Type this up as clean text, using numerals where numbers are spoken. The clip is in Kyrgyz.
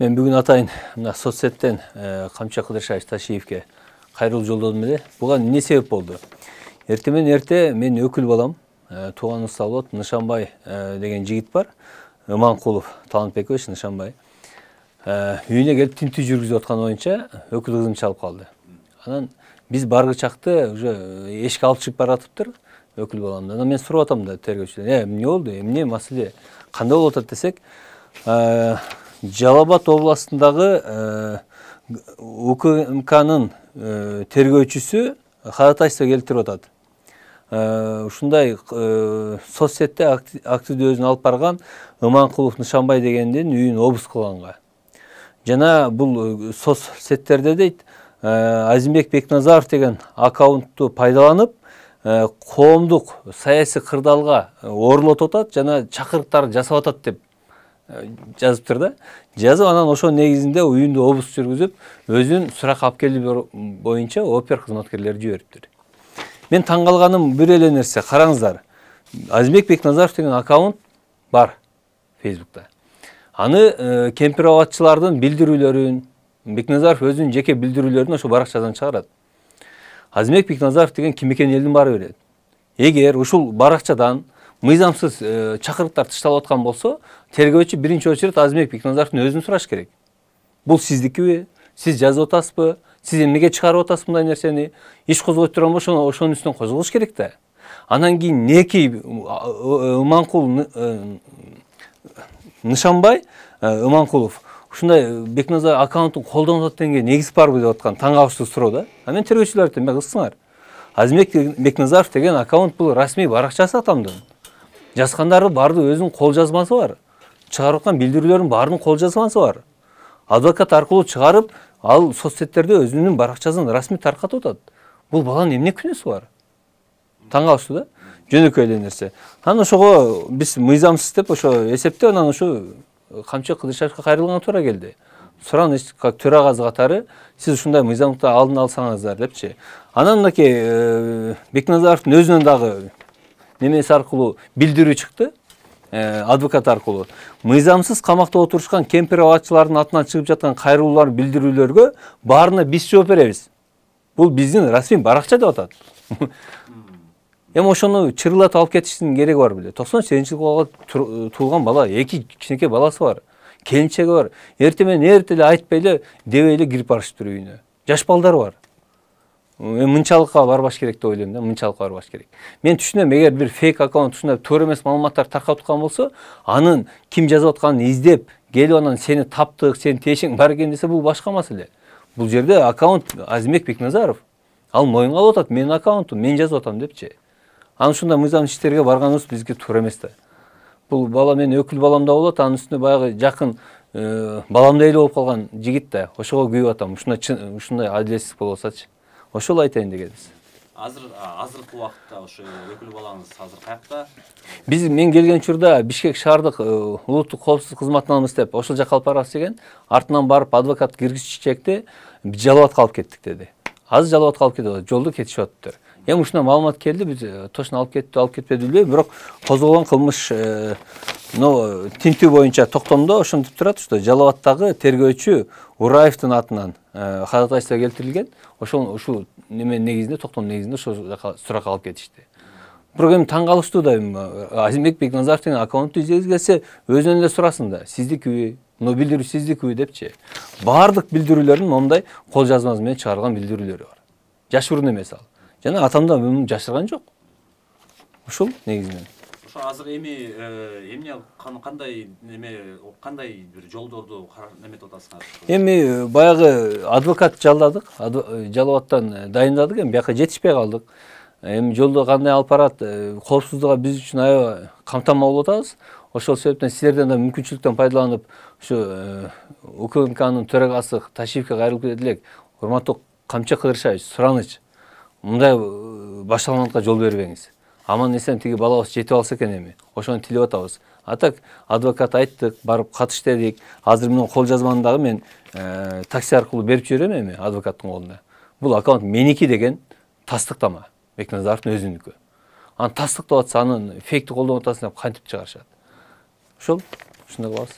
Мен бүгүн атайын мына соцсеттен Камчы Кыдыршаевич Ташиевке кайрылуу жолдодум эле. Буга эмне себеп болду? Эртең менен эрте мен өкүл балам, тууган уста болот, Нышанбай деген жигит бар. Иманкулов Талантбекович Нышанбай. Үйүнө келип тинтүү жүргүзүп аткан боюнча өкүл кызым чалып калды. Анан биз баргы чакты уже эшикке алып чыгып баратыптыр өкүл баламды. Анан мен сурап атам да тергөөчүдөн, эмне болду, эмне маселе, кандай болуп атат десек, Жалал Абад областындагы УКМКнын тергөөчүсү ходатайство келтирип атат. Ушундай соцсетте активдүү өзүн алып барган Иманкулов Нышанбай дегендин үйүн обыск кылганга. Жана бул соцсеттерде дейт, Азимбек Бекназаров деген аккаунтту пайдаланып, коомдук саясий кырдаалга оролотуп атат жана чакырыктар жасап атат деп жазыптыр да. Жазып анан ошо негизинде үйүндө обыск жүргүзүп, өзүн суракка алып келүү боюнча опер кызматкерлери жибериптир. Мен таң калганым бир эле нерсе, караңыздар. Азимбек Бекназаров деген аккаунт бар Facebook'та. Аны кемпир абадчылардын билдирүүлөрүн, Бекназаров өзүнүн жеке билдирүүлөрүн ошо баракчадан чыгарат. Азимбек Бекназаров деген ким экенин элдин баары билет. Эгер ушул баракчадан мыйзамсыз чакырыктар тышталып аткан болсо, тергөөчү биринчи очередь Азимбек Бекназаровдун өзүн сураш керек. Бул сиздикиби? Сиз жазып атасызбы? Сиз эмнеге чыгарып атасыз мындай нерсени? Иш козгойт турган болсо, ошонун үстүнөн козголуш керек да. Анан кийин неки Иманкул Нышанбай Иманкулов ушундай Бекназаров аккаунтун колдонуп атат дегенге негиз барбы деп аткан таң калыштуу суроо да. Мен тергөөчүлөрдү айтам, кызсыңар. Азимбек Бекназаров деген аккаунт бул расмий баракчасы атамдын. Жазгандары баардыгы өзүнүн кол жазмасы бар. Чыгарып аткан билдирүүлөрдүн баарынын кол жазмасы бар. Адвокат аркылуу чыгарып, ал соцсеттерде өзүнүн баракчасын расмий таркатып атат. Бул баланын эмне күнөөсү бар? Таң калыштуу да. Жөнөкөй эле нерсе. Анан ошого биз мыйзамсыз деп ошо эсептеп, анан ошо Камчы Кыдыршаевка кайрылганга туура келди. Сураныч как төрагасы катары сиз ушундай мыйзамдыкты алдын алсаңыздар депчи. Анан мынакей Бекназаровдун өзүнөн дагы немеси аркылуу билдирүү чыкты, адвокат аркылуу. Мыйзамсыз камакта отурушкан кемпир абадчылардын атынан чыгып жаткан кайрылуулар, билдирүүлөргө баарына биз жооп беребиз. Бул биздин расмий баракча деп атат. Эми ошону чырылатып алып кетиштин кереги бар беле. 98-жылга туулган бала, 2 кичинекей баласы бар. Келинчеги бар. Эртең менен эрте эле айтпай эле, дебей эле кирип барышыптыр үйүнө. Жаш балдар бар. Мынчалыкка барбаш керек деп ойлойм да, мынчалыкка барбаш керек. Мен түшүнөм, эгер бир фейк аккаунт ушундай туура эмес маалыматтар таркатып аткан болсо, анын ким жазып атканын издеп, келип анан сени таптык, сенин тиешең бар экен десе, бул башка маселе. Бул жерде аккаунт Азимбек Бекназаров. Ал моюнга алып атат, менин аккаунтум, мен жазып атам депчи. Анан ушундай мыйзамсыз иштерге барганыбыз бизге туура эмес да. Бул бала менин өкүл балам да болот, анын үстүнө баягы жакын баламдай эле болуп калган жигит да. Ошого күйүп атам. Ушундай адилетсиздик болуп атсачы. Ошол айтайын дегенбиз. Азыркы убакытта ошо өкүл балаңыз азыр каякта? Мен келген учурда Бишкек шаардык улуттук коопсуздук кызматынан деп ошол жака алып барабыз деген, артынан барып адвокат киргизчекти Жалал Абадка алып кеттик деди. Азыр Жалал Абадка алып кетип атат, жолдо кетишип атыптыр. Эми ушундай маалымат келди, биз точно алып кетпеди билбейм, бирок козголгон кылмыш тинтүү боюнча токтомдо ошентип турат, что Жалал Абадтагы тергөөчү Ураевдин атынан ходатайство келтирилген. Ушул неменин негизинде, токтом негизинде ошол жака суракка алып кетишти. Бирок эми таң калыштуу да, Азимбек Бекназаров деген аккаунтту издегиз келсе, өзүнөн эле сурасын да, сиздикиби, билдирүү сиздикиби депчи. Баардык билдирүүлөрүн момундай кол жазмасы менен чыгарылган билдирүүлөрү бар. Жашыруун эмес ал. Жана атамда муну жашырган жок. Ушул негизинен. Ошо азыр эми эмне кандай бир жолдорду неметип атасыңар? Эми баягы адвокат жалдадык, Жалал Абадтан дайындадык, эми бияка жетишпей калдык. Эми жолдо кандай алып барат, коопсуздугу биз үчүн аябай камтама болуп атабыз. Ошол себептен силерден да мүмкүнчүлүктөн пайдаланып, ушу УКМКнын төрагасы Ташиевке кайрылып кетет элек. Урматтуу Камчы Кыдыршаевич, сураныч. Мындай башталгандыкка жол бербеңиз. Аман эсен тиги балабыз жетип алса экен эми. Ошону тилеп атабыз. А так адвокат айттык, барып катыш дедик. Азыр менин кол жазманы дагы мен такси аркылуу берип жиберем эми адвокаттын колуна. Бул аккаунт меники деген тастыктама. Бекназаровдун өзүнүкү. Анан тастыктап атса, анын фейкти колдонуп атасың деп кантип чыгарышат. Ушундай кылабыз.